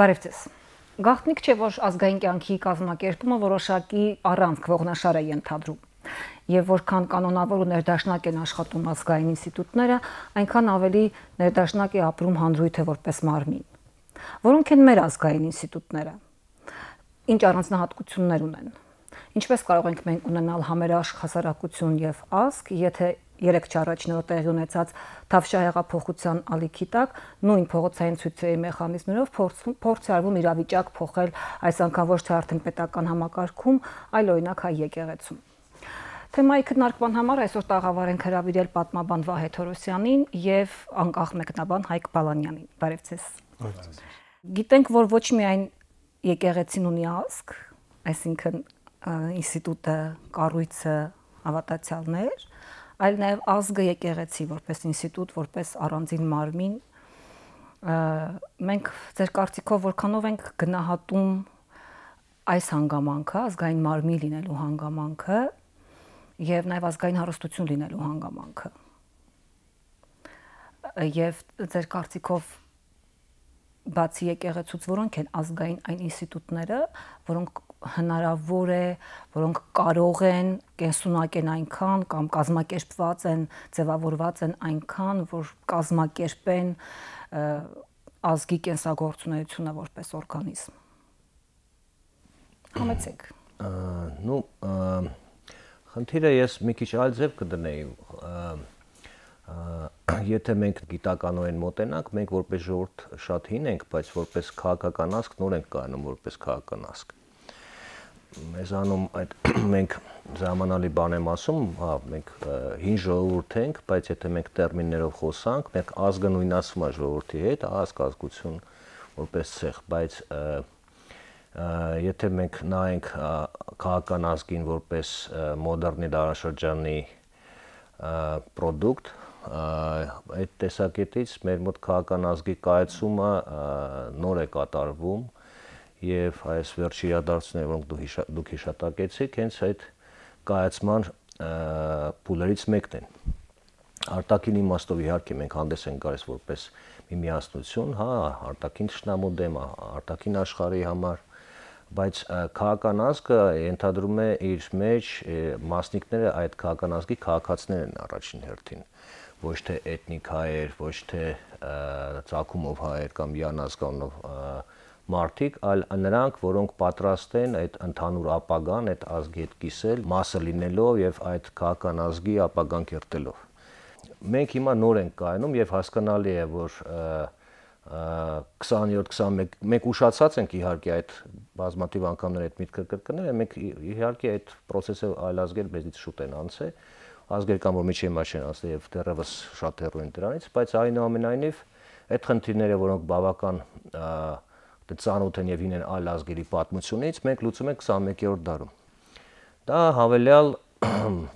Բարև ձեզ։ Գաղտնիք չէ, որ ազգային կյանքի կազմակերպումը որոշակի առանցք ողնաշար է ենթադրում, եւ որքան կանոնավոր ու ներդաշնակ են աշխատում ազգային ինստիտուտները, այնքան ավելի ներդաշնակ է ապրում հանրույթը որպես մարմին։ Որոնք են մեր ազգային ինստիտուտները։ Ինչ առանձնահատկություններ ունեն։ Ինչպես կարող ենք մենք ունենալ համերաշխ հասարակություն եւ ազգ, եթե 3 առաջին օրը տեղի ունեցած Թավշյա ալիքի տակ նույն փողոցային ցույցերի մեխանիզմներով փորձ է արվում իրավիճակ փոխել այս անգամ ոչ թե արդեն պետական համակարգում, այլ օրինակ հայ եկեղեցում։ Թեմայի քննարկման համար այսօր տաղավար ենք հրավիրել պատմաբան Վահե Թորոսյանին եւ անկախ մեկնաբան Հայկ Բալանյանին։ Բարև ձեզ։ Գիտենք, որ ոչ միայն եկեղեցին ունի ազգ, այսինքն ինստիտուտը, կառույցը, հավատացյալներ, այլ նաև ազգը եկեղեցի որպես ինստիտուտ, որպես առանձին մարմին։ Մենք ձեր կարծիքով որքանով ենք գնահատում այս հանգամանքը, ազգային մարմին լինելու հանգամանքը եւ նաև ազգային հարստություն լինելու հանգամանքը։ Եվ ձեր կարծիքով բացի եկեղեցուց որոնք են ազգային այն ինստիտուտները, որոնք հնարավոր է, որոնք կարող են կենսունակեն այնքան կամ կազմակերպված են, ձևավորված են այնքան, որ կազմակերպեն ազգի կենսագործունեությունը որպես օրգանիզմ։ Համեցեք։ Խնդիրը ես մի քիչ այլ ձև կդնեի։ Եթե մենք գիտականորեն մոտենանք, մենք որպես ժողովուրդ շատ հին ենք, բայց որպես քաղաքական ազգ նոր ենք կայանում որպես քաղաքական ազգ։ Մեզանում այդ մենք ժամանալի բան եմ ասում, հա, մենք հին ժողովուրդ ենք, բայց եթե մենք տերմիններով խոսանք, մենք ազգը նույնացվում է ժողովրդի հետ, ազգ, ազգություն որպես ցեղ, բայց եթե մենք նայենք քաղաքական ազգին որպես մոդեռնի դարաշրջանի պրոդուկտ, այդ տեսակետից մեր մոտ քաղաքական ազգի կայացումը նոր է կատարվում եւ այս վերջի իրադարձությունները, որոնք դուք հիշատակեցիք, հենց այդ կայացման փուլերից մեկն են։ Արտաքին իմաստով իհարկե մենք հանդես ենք գալիս որպես մի միասնություն, հա, արտաքին թշնամու դեմ, արտաքին աշխարհի համար, բայց քաղաքական ազգը ենթադրում է իր մեջ մասնիկները այդ քաղաքական ազգի քաղաքացիներն են առաջին հերթին, ոչ թե էթնիկ հայեր, ոչ թե ծագումով հայեր կամ յանազգանով մարդիկ, այլ նրանք, որոնք պատրաստ են այդ ընդհանուր ապագան, այդ ազգի հետ կիսել, մասը լինելով եւ այդ քաղաքական ազգի ապագան կերտելով։ Մենք հիմա նոր ենք կայանում եւ հասկանալի է, որ 20-21 մենք ուշացած ենք իհարկե այդ բազմաթիվ անգամներ այդ միտքը կրկնել, մենք իհարկե այդ process-ը այլ ազգեր մեզից շուտ են անցել, ազգեր կան, որ միջի մաս են անցել եւ դեռևս շատ հեռու են դրանից, բայց այնուամենայնիվ այդ խնդիրները, որոնք բավական ծանոթ են եւ հին են այլ ազգերի պատմությունից, մենք լուծում ենք 21-րդ դարում։ Դա հավելյալ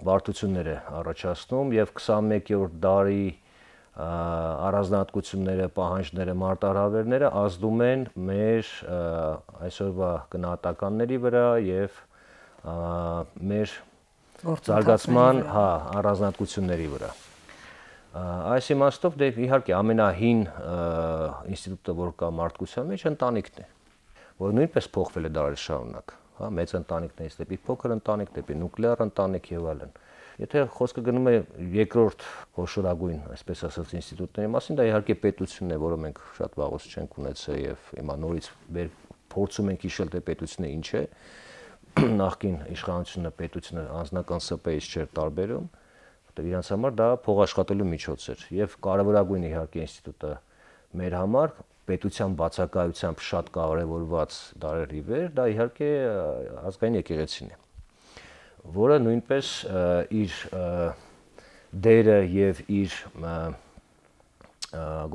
բարդություններ է առաջացնում եւ 21-րդ դարի առանձնահատկությունները, պահանջները, մարտահրավերները ազդում են մեր այսօրվա գնահատականների վրա եւ մեր զարգացման, հա, առանձնահատկությունների վրա։ Այս իմաստով դե իհարկե ամենահին ինստիտուտը, որ կա մարդկության մեջ, ընտանիքն է, որ նույնպես փոխվել է դարեր շարունակ, հա, մեծ ընտանիքներից դեպի փոքր ընտանիք, դեպի նուկլեար ընտանիք եւ այլն։ Եթե խոսքը գնում է երկրորդ խոշորագույն, այսպես ասած, ինստիտուտների մասին, դա իհարկե պետությունն է, որը մենք շատ վաղուց չենք ունեցել եւ հիմա նորից փորձում ենք հիշել, թե պետությունը ինչ է։ Նախկին իշխանությունը պետությունը անձնական ՍՊ-ից չէր տարբերում, որտեղ իրանց համար դա փոխաշխատելու միջոց էր եւ կարևորագույն իհարկե ինստիտուտը մեր համար պետության բացակայությամբ շատ կարևորված դարերի վեր, դա իհարկե ազգային եկեղեցին է, որը նույնպես իր դերը եւ իր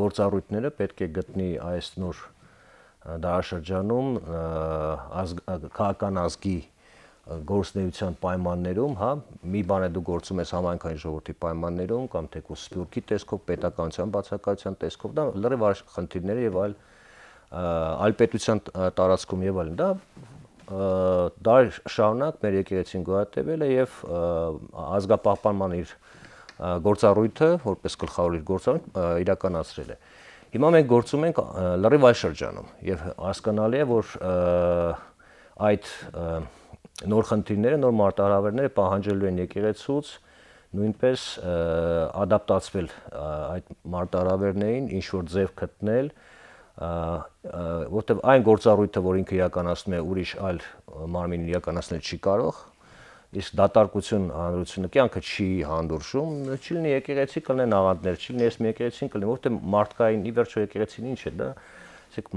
գործառույթները պետք է գտնի այս նոր դարաշրջանում քաղաքական ազգի գործունեության պայմաններում, հա, մի բան է դու գործում ես համայնքային ժողովրդի պայմաններում կամ թեկուզ սփյուռքի տեսքով, պետականության բացակայության տեսքով, դա լրիվ այլ խնդիրներ եւ այլ այլ պետության տարածքում եւ այլն, դա շարունակ մեր եկեղեցին գոյատևել է եւ ազգապահպանման իր գործառույթը, որպես գլխավոր իր գործառույթ իրականացրել է։ Հիմա մենք գործում ենք լրիվ այլ շրջանում եւ հասկանալի է, որ այդ նոր խնդիրները, նոր մարտահրավերները պահանջելու են եկեղեցուց նույնպես ադապտացվել այդ մարտահրավերներին, ինչ որ ձև գտնել, որտեղ այն գործառույթը, որ ինքը իրականացնում է, ուրիշ այլ մարմին իրականացնել չի կարող, իսկ դատարկություն հանրությունը կյանքը չի հանդուրժում, չի լինի եկեղեցի կլինեն աղանդներ, չի լինի ես մի եկեղեցին կլինի, որտեղ մարդկային ի վերջո եկեղեցին ինչ է, դա ասենք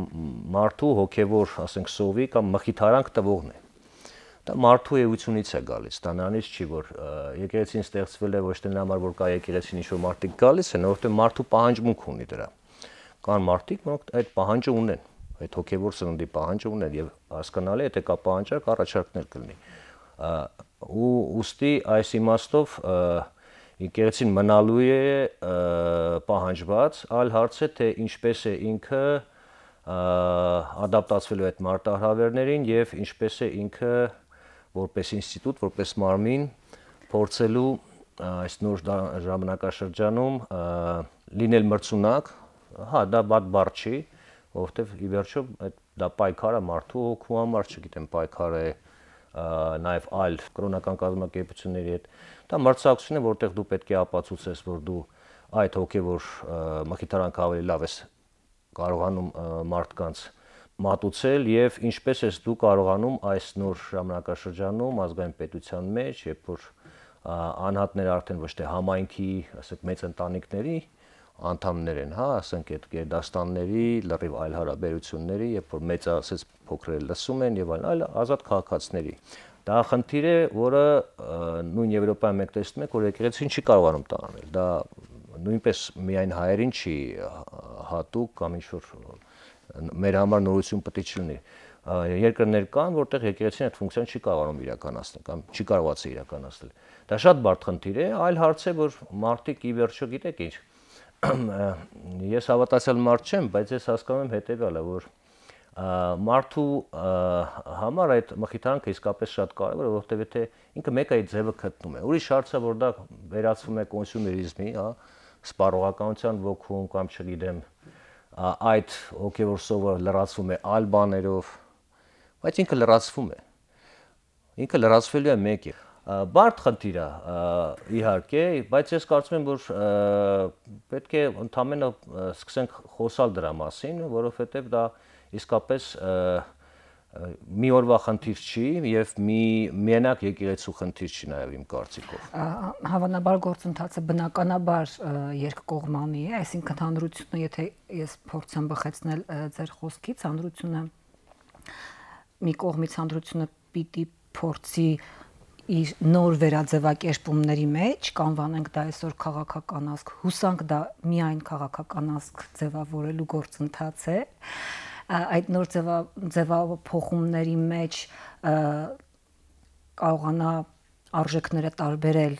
մարդու հոգևոր, ասենք սովի կամ մխիթարանք տվողն է։ Դա մարդու էությունից է գալիս, դա նրանից չի, որ եկեղեցին ստեղծվել է ոչ թե նրա համար, որ կա եկեղեցին ինչ-որ մարդիկ գալիս են, որովհետև մարդու պահանջմունք ունի դրա։ Կան մարդիկ, որոնք այդ պահանջը ունեն, այդ հոգևոր սննդի պահանջը ունեն եւ հասկանալի է, եթե կա պահանջարկ, առաջարկներ կլինի։ Ու ուստի այս իմաստով եկեղեցին մնալու է պահանջված, այլ հարց է, թե ինչպես է ինքը ադապտացվելու այդ մարտահրավերներին եւ ինչպես է ինքը որպես ինստիտուտ, որպես մարմին փորձելու այս նոր ժամանակաշրջանում լինել մրցունակ, հա, դա բադ բառ չի, որովհետև ի վերջո դա պայքար է մարդու հոգու համար, չգիտեմ, պայքար է նաև այլ կրոնական կազմակերպությունների հետ։ Դա մրցակցություն է, որտեղ դու պետք է ապացուցես, որ դու այդ հոգևոր մխիթարանքը ավելի լավ ես կարողանում մարդկանց մատուցել եւ ինչպես ես դու կարողանում այս նոր ժամանակաշրջանում ազգային պետության մեջ, երբ որ անհատները արդեն ոչ թե համայնքի, ասենք մեծ ընտանիքների անդամներ են, հա, ասենք այդ գերդաստանների, լրիվ այլ հարաբերությունների, երբ որ մեծ ասես փոքրերը լսում են եւ այլ ազատ քաղաքացիների։ Դա խնդիր է, որը նույն Եվրոպայում մենք տեսնում ենք, որ եկեղեցին չի կարողանում տանել։ Դա նույնպես միայն հայերին չի հատուկ կամ ինչ-որ մեր համար նորություն պետք է չլինի։ Երկրներ կան, որտեղ եկեղեցին այդ ֆունկցիան չի կարողանում իրականացնել կամ չի կարողացել իրականացնել։ Դա շատ բարդ խնդիր է, այլ հարց է, որ մարդիկ ի վերջո գիտեք ինչ, ես հավատացյալ մարդ չեմ, բայց ես հասկանում եմ հետեւյալը, որ մարդու համար այդ մխիթարանքը իսկապես շատ կարևոր է, որովհետև եթե ինքը մեկ այդ ձևը գտնում է։ Ուրիշ հարցը, որ դա վերածվում է կոնսյումերիզմի, հա, սպառողականության ոգում կամ չգիտեմ, այդ հոգևոր սովը լրացվում է այլ բաներով, բայց ինքը լրացվում է։ Ինքը լրացվելու է մեկի։ Բարդ խնդիր է, իհարկե, բայց ես կարծում եմ, որ պետք է ընդհանրապես սկսենք խոսալ դրա մասին, որովհետև դա իսկապես մի օրվա խնդիր չի եւ միանակ եկեղեցու խնդիր չի նաեւ իմ կարծիքով։ Հավանաբար գործընթացը բնականաբար երկկողմանի է, այսինքն հանրությունը, եթե ես փորձեմ բխեցնել ձեր խոսքից, հանրությունը մի կողմից հանրությունը պիտի փորձի իր նոր վերաձևակերպումների մեջ կանվանենք դա այսօր քաղաքական ազգ, հուսանք դա միայն քաղաքական ազգ ձևավորելու գործընթաց է, այդ նոր ձևափոխումների մեջ կարողանա արժեքները տարբերել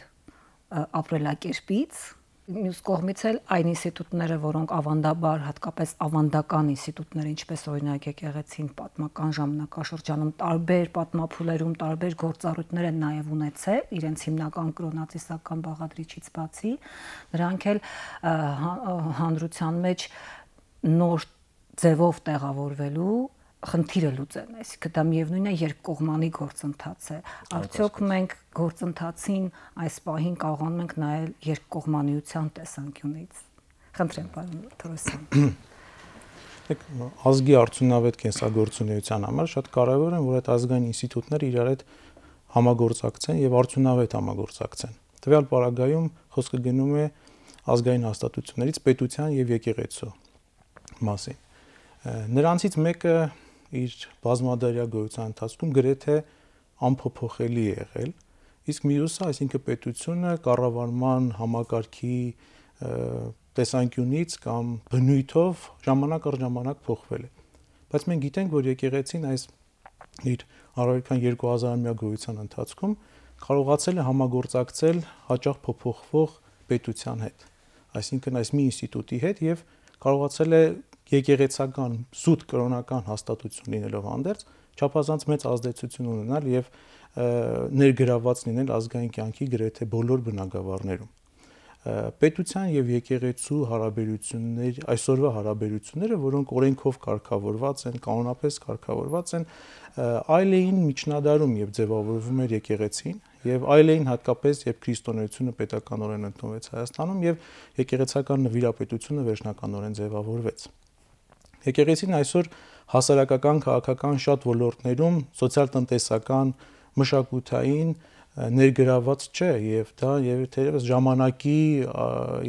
ապրելակերպից, մյուս կողմից էլ այն ինստիտուտները, որոնք ավանդաբար, հատկապես ավանդական ինստիտուտները, ինչպես օրինակ եկեղեցին պատմական ժամանակաշրջանում տարբեր պատմափուլերում տարբեր գործառույթներ են նաև ունեցել, իրենց հիմնական կրոնածիսական բաղադրիչից բացի, նրանք էլ հանրության մեջ նոր ձևով տեղավորվելու խնդիրը լուծեն, այսինքն դա միևնույն է երկկողմանի գործընթաց է։ Արդյոք մենք գործընթացին այս պահին կարողանում ենք նայել երկկողմանիության տեսանկյունից։ Խնդրեմ, պարոն Թորոսյան։ Ազգի արդյունավետ կենսագործունեության համար շատ կարևոր է, որ այդ ազգային ինստիտուտները իրար հետ համագործակցեն եւ արդյունավետ համագործակցեն։ Տվյալ պարագայում խոսքը գնում է ազգային հաստատություններից պետության եւ եկեղեցու մասին։ Նրանցից մեկը իր բազմադարյա գոյության ընթացքում գրեթե անփոփոխելի է եղել, իսկ մյուսը, այսինքն պետությունը կառավարման համակարգի տեսանկյունից կամ բնույթով ժամանակ առ ժամանակ փոխվել է։ Բայց մենք գիտենք, որ եկեղեցին այս իր առաքան 2000-ամյա գոյության ընթացքում կարողացել է համագործակցել հաճախ փոփոխվող պետության հետ, այսինքն այս մի ինստիտուտի հետ եւ կարողացել է եկեղեցական զուտ կրոնական հաստատություն լինելով հանդերձ չափազանց մեծ ազդեցություն ունենալ եւ ներգրաված լինել ազգային կյանքի գրեթե բոլոր բնագավառներում։ Պետության եւ եկեղեցու հարաբերություններ, այսօրվա հարաբերությունները, որոնք օրենքով կարգավորված են, կանոնապես կարգավորված են, այլ էին միջնադարում, երբ ձևավորվում էր եկեղեցին, եւ այլ էին հատկապես, երբ քրիստոնեությունը պետականորեն ընդունվեց Հայաստանում եւ եկեղեցական նվիրապետությունը վերջնականորեն ձևավորվեց։ Եկեղեցին այսօր հասարակական, քաղաքական շատ ոլորտներում սոցիալ-տնտեսական, մշակութային ներգրաված չէ եւ դա թերևս ժամանակի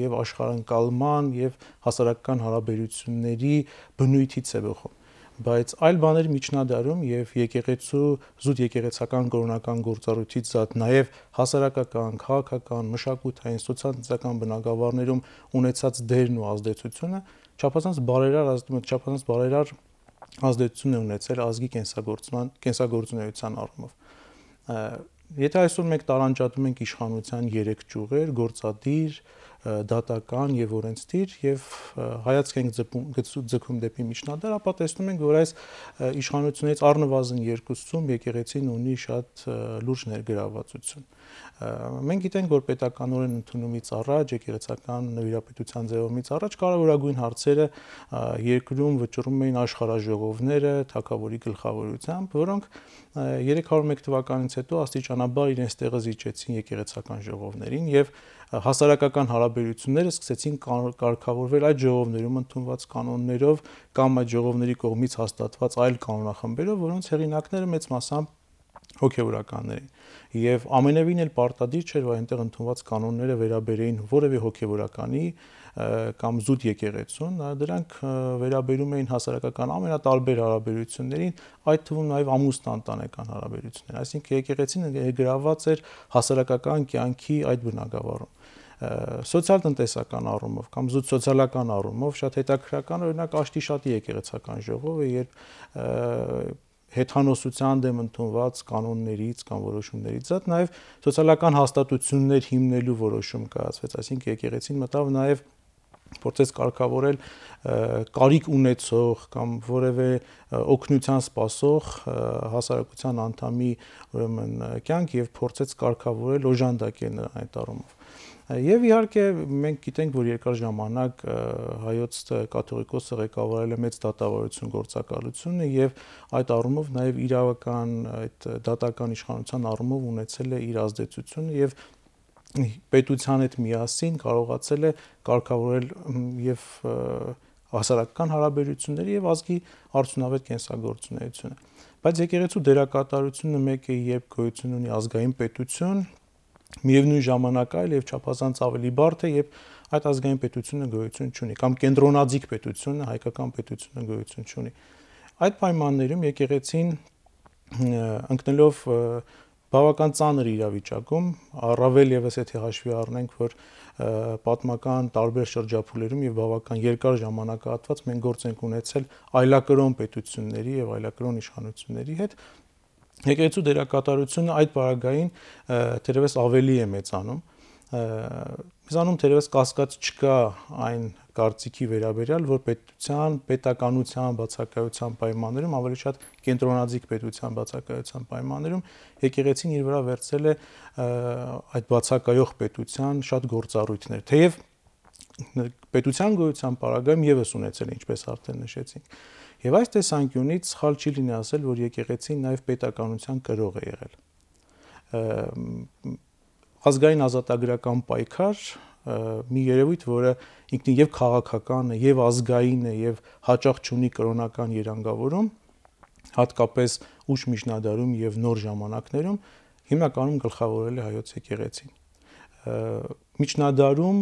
եւ աշխարհընկալման եւ հասարակական հարաբերությունների բնույթից է բխում, բայց այլ բաների միջնադարում եւ եկեղեցու զուտ եկեղեցական կրոնական գործառույթից զատ նաեւ հասարակական, քաղաքական, մշակութային, սոցիալ-տնտեսական բնագավառներում ունեցած դերն ու ազդեցությունը չափազանց բարերար ազդեցություն է ունեցել ազգի կենսագործունեության առումով։ Եթե այսօր մենք տարանջատում ենք իշխանության 3 ճյուղեր՝ գործադիր, դատական եւ օրենսդիր եւ հայացք ենք ձգում դեպի միջնադար, ապա տեսնում ենք, որ այս իշխանություններից առնվազն 2-ում եկեղեցին ունի շատ լուրջ ներգրավվածություն։ Մենք գիտենք, որ պետականորեն ընդունումից առաջ, եկեղեցական նվիրապետության ձևումից առաջ կարևորագույն հարցերը երկրում վճռում էին աշխարհաժողովները թագավորի գլխավորությամբ, որոնք 301 թվականից հետո աստիճանաբար իրենց տեղը զիջեցին եկեղեցական ժողովներին եւ հասարակական հարաբերությունները սկսեցին կարգավորվել այդ ժողովներում ընդունված կանոններով կամ այդ ժողովների կողմից հաստատված այլ կանոնախմբերով, որոնց հեղինակները մեծ մասամբ հոգևորականներ էին եւ ամենևին էլ պարտադիր չէր, որ այնտեղ ընդունված կանոնները վերաբերեին որևէ հոգևորականի կամ զուտ եկեղեցուն, դրանք վերաբերում էին հասարակական ամենատարբեր հարաբերություններին, այդ թվում նաեւ ամուսնա-ընտանեկան հարաբերություններ, այսինքն եկեղեցին ներգրաված էր հասարակական կյանքի այդ բնագավառում։ Սոցիալ-տնտեսական առումով կամ զուտ սոցիալական առումով շատ հետաքրքրական օրինակ Աշտիշատի եկեղեցական ժողովը, երբ հեթանոսության դեմ ընդունված կանոններից կամ որոշումներից զատ նաև սոցիալական հաստատություններ հիմնելու որոշում կայացվեց, այսինքն եկեղեցին մտավ նաև փորձեց կարգավորել կարիք ունեցող կամ որևէ օգնության սպասող հասարակության անդամի ուրեմն կյանք եւ փորձեց կարգավորել օժանդակել նրան այդ առումով։ Եվ իհարկե մենք գիտենք, որ երկար ժամանակ հայոց կաթողիկոսը ղեկավարել է մեծ դատավարություն գործակալությունը եւ այդ առումով նաեւ իրավական այդ դատական իշխանության առումով ունեցել է իր ազդեցությունը եւ պետության հետ միասին կարողացել է կարգավորել եւ հասարակական հարաբերությունները եւ ազգի արդյունավետ կենսագործունեությունը։ Բայց եկեղեցու դերակատարությունը մեկ է, երբ գոյություն ունի ազգային պետություն, միևնույն ժամանակ այլ եւ չափազանց ավելի բարդ է, երբ այդ ազգային պետությունը գոյություն չունի կամ կենտրոնաձիգ պետությունը, հայկական պետությունը գոյություն չունի։ Այդ պայմաններում եկեղեցին ընկնելով բավական ծանր իրավիճակում, առավել եւս եթե հաշվի առնենք, որ պատմական տարբեր շրջափուլերում եւ բավական երկար ժամանակահատված մենք գործ ենք ունեցել այլակրոն պետությունների եւ այլակրոն իշխանությունների հետ, եկեղեցու դերակատարությունը այդ բaragային թերևս ավելի է մեծանում։ Մեզանում թերևս կասկած չկա այն կարծիքի վերաբերյալ, որ պետականության բացակայության պայմաններում, ավելի շատ կենտրոնաձիգ պետության բացակայության պայմաններում եկեղեցին իր վրա վերցրել է այդ բացակայող պետության շատ գործառույթներ, թեև պետության գոյության պարագայում եւս ունեցել է, ինչպես արդեն նշեցինք։ Եվ այս տեսանկյունից սխալ չի լինի ասել, որ եկեղեցին նաեւ պետականության կրող է եղել։ Ազգային ազատագրական պայքար մի երևույթ, որը ինքնին եւ քաղաքական է, եւ ազգային է, եւ հաճախ չունի կրոնական երանգավորում, հատկապես ուշ միջնադարում եւ նոր ժամանակներում հիմնականում գլխավորել է հայոց եկեղեցին։ Միջնադարում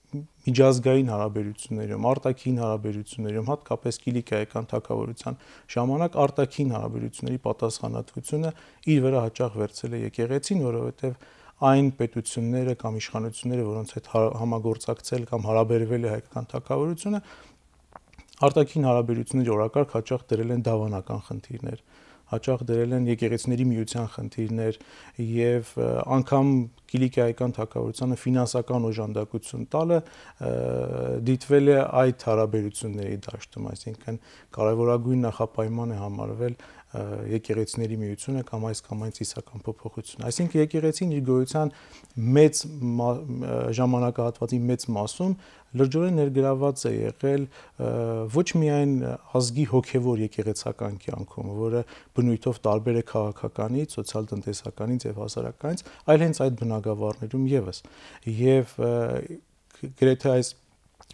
միջազգային հարաբերություններում, արտաքին հարաբերություններում, հատկապես Կիլիկիայական թագավորության ժամանակ արտաքին հարաբերությունների պատասխանատվությունը իր վրա հաճախ վերցրել է եկեղեցին, որովհետեւ այն պետությունները կամ իշխանությունները, որոնց հետ համագործակցել կամ հարաբերվել է հայկական թագավորությունը, արտաքին հարաբերությունների օրակարգ հաճախ դրել են դավանական խնդիրներ, հաճախ դրել են եկեղեցիների միության խնդիրներ եւ անգամ Կիլիկիայական թագավորությանը ֆինանսական օժանդակություն տալը դիտվել է այդ հարաբերությունների դաշտում, այսինքն կարևորագույն նախապայման է համարվել եկեղեցիների միությունը կամ այս կամ այն ծիսական փոփոխություն։ Այսինքն եկեղեցին իր գոյության մեծ ժամանակահատվածի մեծ մասում լրջորեն ներգրաված է եղել ոչ միայն ազգի հոգևոր եկեղեցական կյանքում, որը բնույթով տարբեր է քաղաքականից, սոցիալ-տնտեսականից եւ հասարակականից, այլ հենց այդ բնագավառներում եւս։ Եվ գրեթե այս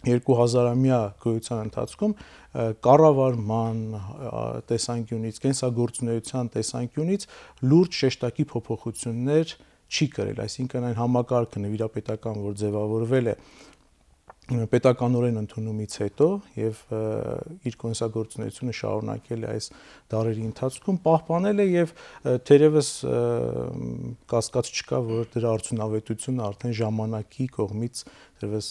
2000-ամյա գոյության ընթացքում կառավարման տեսանկյունից, կենսագործունեության տեսանկյունից լուրջ շեշտակի փոփոխություններ չի կրել, այսինքն այն համակարգը նվիրապետական, որ ձևավորվել է պետականորեն ընդունումից հետո եւ իր կոնսերվատորությունը շարունակել է այս դարերի ընթացքում, պահպանել է եւ թերևս կասկած չկա, որ դրա արդյունավետությունը արդեն ժամանակի կողմից թերևս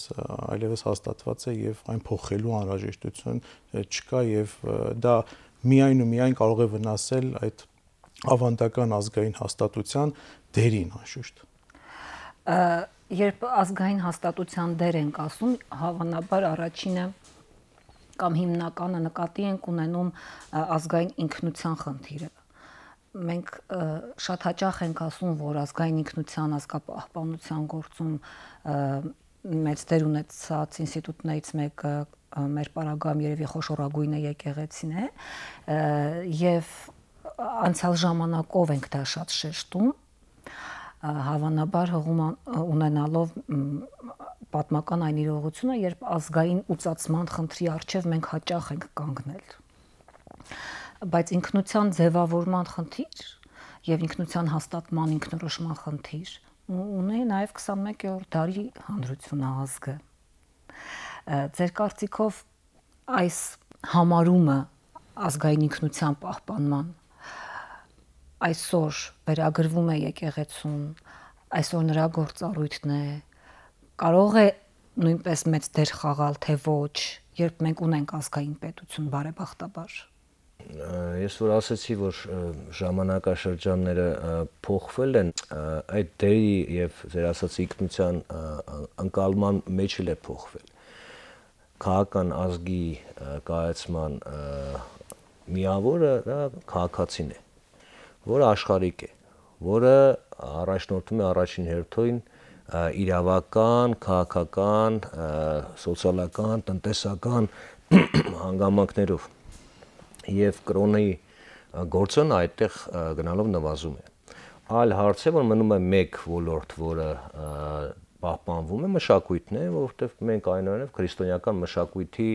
այլևս հաստատված է եւ այն փոխելու անհրաժեշտություն չկա եւ դա միայն ու միայն կարող է վնասել այդ ավանդական ազգային հաստատության դերին անշուշտ։ Երբ ազգային հաստատության դեր ենք ասում, հավանաբար առաջինը կամ հիմնականը նկատի ենք ունենում ազգային ինքնության խնդիրը։ Մենք շատ հաճախ ենք ասում, որ ազգային ինքնության ազգապահպանության գործում մեծ դեր ունեցած ինստիտուտներից մեկը մեր պարագայում երևի խոշորագույնը եկեղեցին է, եւ անցյալ ժամանակով ենք դա շատ շեշտում, հավանաբար հղում ունենալով պատմական այն իրողությունը, երբ ազգային ուծացման խնդրի առջև մենք հաճախ ենք կանգնել։ Բայց ինքնության ձևավորման խնդիր եւ ինքնության հաստատման ինքնորոշման խնդիր ունի նաեւ 21-րդ դարի հանրությունը ազգը։ Ձեր կարծիքով այս համարումը ազգային ինքնության պահպանման այսօր վերագրվում է եկեղեցուն, այսօր նրա գործառույթն է, կարող է նույնպես մեծ դեր խաղալ, թե ոչ, երբ մենք ունենք ազգային պետություն բարեբախտաբար։ Ես որ ասացի, որ ժամանակաշրջանները փոխվել են, այդ դերի եւ ձեր ասած ինքնության ընկալման մեջ էլ է փոխվել։ Քաղաքական ազգի կայացման միավորը դա քաղաքացին է, որը աշխարհիկ է, որը առաջնորդում է առաջին հերթին իրավական, քաղաքական, սոցիալական, տնտեսական հանգամանքներով եւ կրոնի գործոնը այդտեղ գնալով նվազում է։ Այլ հարց է, որ մնում է մեկ ոլորտ, որը պահպանվում է, մշակույթն է, որովհետեւ մենք այնուամենայնիվ քրիստոնեական մշակույթի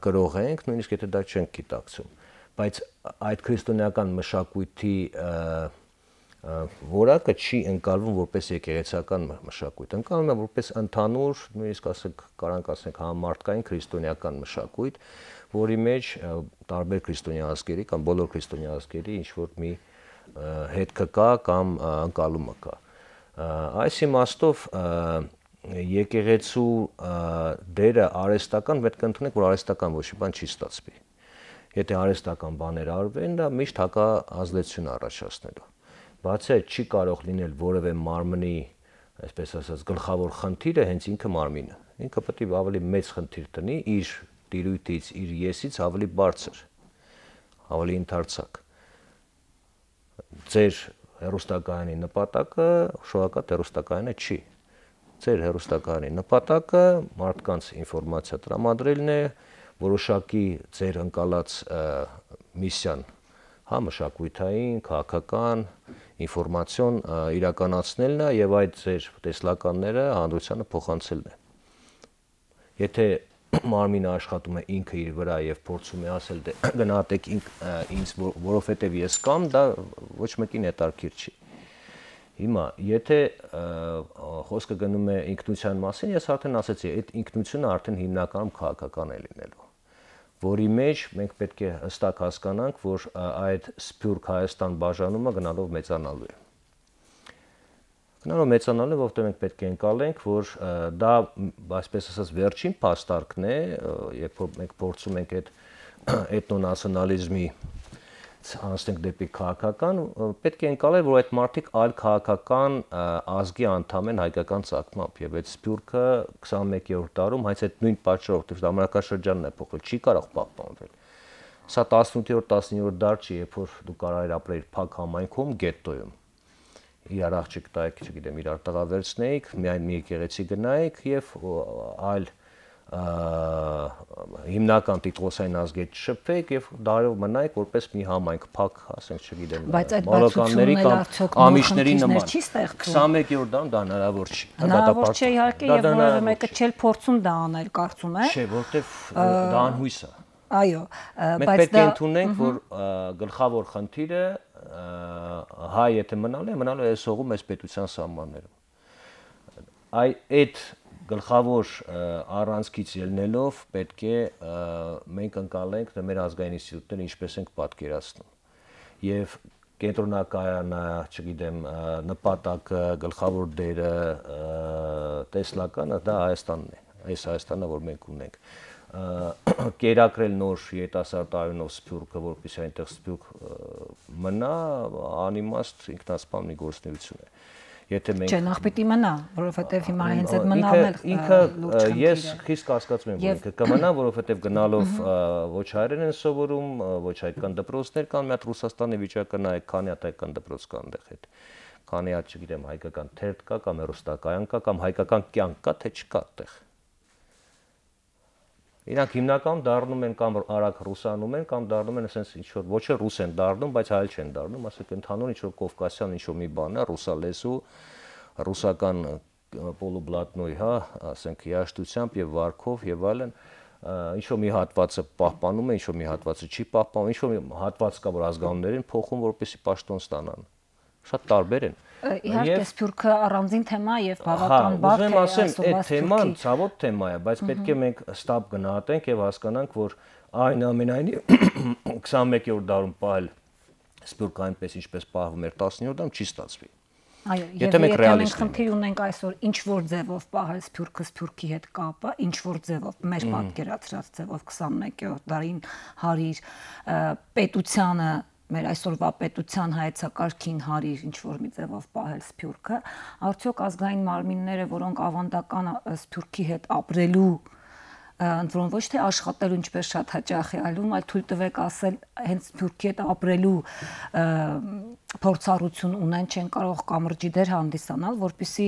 կրող ենք, նույնիսկ եթե դա չենք գիտակցում։ Բայց այդ քրիստոնեական մշակույթի որակը չի ընկալվում որպես եկեղեցական մշակույթ, ընկալվում է որպես ընդհանուր, նույնիսկ ասենք կարանք ասենք համամարտկային քրիստոնեական մշակույթ, որի մեջ տարբեր քրիստոնյա ազգերի կամ բոլոր քրիստոնյա ազգերի ինչ որ մի հետքը կա կամ ընկալումը կա։ Այս իմաստով եկեղեցու դերը արհեստական, պետք է ընդունենք, որ արհեստական ոչ մի բան չի ստացվի։ Եթե արհեստական բաներ արվեն, դա միշտ հակազդեցություն առաջացնելու։ Բացի այդ չի կարող լինել որևէ մարմնի, այսպես ասած, գլխավոր խնդիրը հենց ինքը մարմինը։ Ինքը պետք է ավելի մեծ խնդիր տնի իր տիրույթից, իր եսից ավելի բարձր, ավելի ընդարձակ։ Ձեր հեռուստակայանի նպատակը շոակատ հեռուստակայանը չի։ Ձեր հեռուստակայանի նպատակը մարդկանց ինֆորմացիա տրամադրելն է, որոշակի ձեր ընկալած միսիան, հա, մշակութային, քաղաքական, ինֆորմացիոն իրականացնելն է եւ այդ ձեր տեսլականները հանրությանը փոխանցելն է։ Եթե մարմինը աշխատում է ինքը իր վրա եւ փորձում է ասել դե գնահատեք ինձ, որովհետեւ ես կամ, դա ոչ մեկին հետաքրքիր չի։ Հիմա, եթե խոսքը գնում է ինքնության մասին, ես արդեն ասացի, այդ ինքնությունը արդեն հիմնականում քաղաքական է լինելու, որի մեջ մենք պետք է հստակ հասկանանք, որ այդ սփյուռք Հայաստան բաժանումը գնալով մեծանալու է։ Գնալով մեծանալու, որովհետև մենք պետք է ընկալենք, որ դա, այսպես ասած, վերջին փաստարկն է, երբ որ մենք փորձում ենք այդ էթնոնացիոնալիզմի անցնենք դեպի քաղաքական, պետք է ընկալել, որ այդ մարդիկ այլ քաղաքական ազգի անդամ են հայկական ծագմամբ, եւ այդ սփյուռքը 21-րդ դարում հենց այդ նույն պատճառով, որ ժամանակաշրջանն է փոխվել, չի կարող պահպանվել։ Սա 18-րդ, 19-րդ դար չի, երբ որ դու կարող ես ապրել փակ համայնքում, գետտոյում։ Իրար աղջիկ տայք, չգիտեմ, իրար տղա վերցնեիք, միայն մի եկեղեցի գնայիք եւ այլ հիմնական տիտղոսային ազգեր չշփվեիք եւ դարով մնայիք որպես մի համայնք փակ, ասենք, չգիտեմ, մոլոկանների կամ ամիշների նման։ 21-րդ դարում դա հնարավոր չի։ Հնարավոր չէ իհարկե եւ որևէ մեկը չէ փորձում դա անել, կարծում եմ։ Չէ, որտեվ դա անհույս է։ Այո, մենք պետք է ընդունենք, որ գլխավոր խնդիրը հայ եթե մնալու է այս հողում այս պետության սահմաններում։ Այդ գլխավոր առանցքից ելնելով պետք է մենք ընկալենք մեր ազգային ինստիտուտները ինչպես ենք պատկերացնում։ Եվ կենտրոնակայանը, չգիտեմ, նպատակը, գլխավոր դերը, տեսլականը դա Հայաստանն է, այս Հայաստանը, որ մենք ունենք։ Կերակրել նոր երիտասարդ արյունով սփյուռքը, որպեսզի այնտեղ սփյուռք մնա, անիմաստ ինքնասպան մի գործունեություն է։ Եթե մենք Չէ, նախ պիտի մնա, որովհետև հիմա հենց այդ մնալն էլ ինքը ես խիստ կասկածում եմ, որ ինքը կմնա, որովհետև գնալով ոչ հայերեն են սովորում, ոչ հայկական դպրոցներ կան, մի հատ Ռուսաստանի վիճակը նայեք, քանի հատ հայկական դպրոց կա այնտեղ հետ։ Քանի հատ, չգիտեմ, հայկական թերթ կա կամ հեռուստակայան կա կամ հայկական կյանք կա, թե չկա այդտեղ։ Իրանք հիմնականում դառնում են կամ արագ ռուսանում են կամ դառնում են ասենց ինչ որ ոչ է ռուս են դառնում, բայց հայ չեն դառնում, ասենք ընդհանուր ինչ որ կովկասյան ինչ որ մի բան է, ռուսալեզու, ռուսական պոլուբլատնոյ, հա, ասենք երաշտությամբ եւ վարքով եւ այլն, ինչ որ մի հատվածը պահպանում է, ինչ որ մի հատվածը չի պահպանում, ինչ որ մի հատված կա, որ ազգանուններին փոխում, որպեսզի պաշտոն ստանան։ Շատ տարբեր են։ Իհարկե սփյուռքը առանձին թեմա եւ բավական բարդ է, ասեմ, այդ թեման ցավոտ թեմա է, բայց պետք է մենք ստապ գնահատենք եւ հասկանանք, որ այնուամենայնիվ 21-րդ դարում պահել սփյուռքը այնպես ինչպես պահվում էր 19-րդ դարում չի ստացվի։ Այո, եթե մենք խնդիր ունենք այսօր ինչ որ ձևով պահել սփյուռքը սփյուռքի հետ կապը, ինչ որ ձևով մեր պատկերացրած ձևով 21-րդ դարին հարիր պետությանը մեր այսօրվա պետության հայեցակարգին հարիր ինչ որ մի ձևով պահել սփյուռքը, արդյոք ազգային մարմինները, որոնք ավանդական սփյուռքի հետ ապրելու, ընդ որում ոչ թե աշխատելու ինչպես շատ հաճախ է այլում, այլ թույլ տվեք ասել հենց սփյուռքի հետ ապրելու փորձառություն ունեն, չեն կարող կամրջի դեր հանդիսանալ, որպեսզի